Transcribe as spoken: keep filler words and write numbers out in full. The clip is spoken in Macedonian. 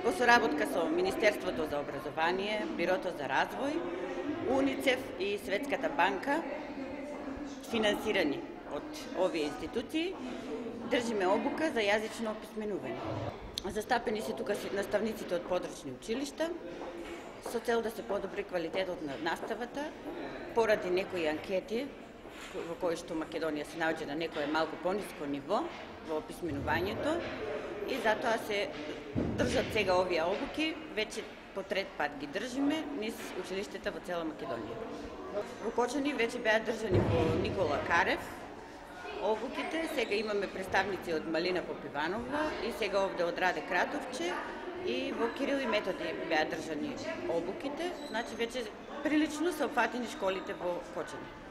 во соработка со Министерството за образование, Бирото за развој, УНИЦЕФ и Светската банка, финансирани од овие институции, држиме обука за јазично описменување. Застапени се тука наставниците од подручни училишта, со цел да се подобри квалитетот на наставата, поради некои анкети во кои што Македонија се наоѓа на некое малку пониско ниво во описменувањето и затоа се држат сега овие обуки, веќе по трет пат ги држиме низ училиштата во цела Македонија. Во Кочани веќе беа држани во Никола Карев обуките, сега имаме представници од Малина Попиванова и сега овде од Раде Кратовче и во Кирил и Методи беа држани обуките, значи веќе прилично се опфатени школите во Кочани.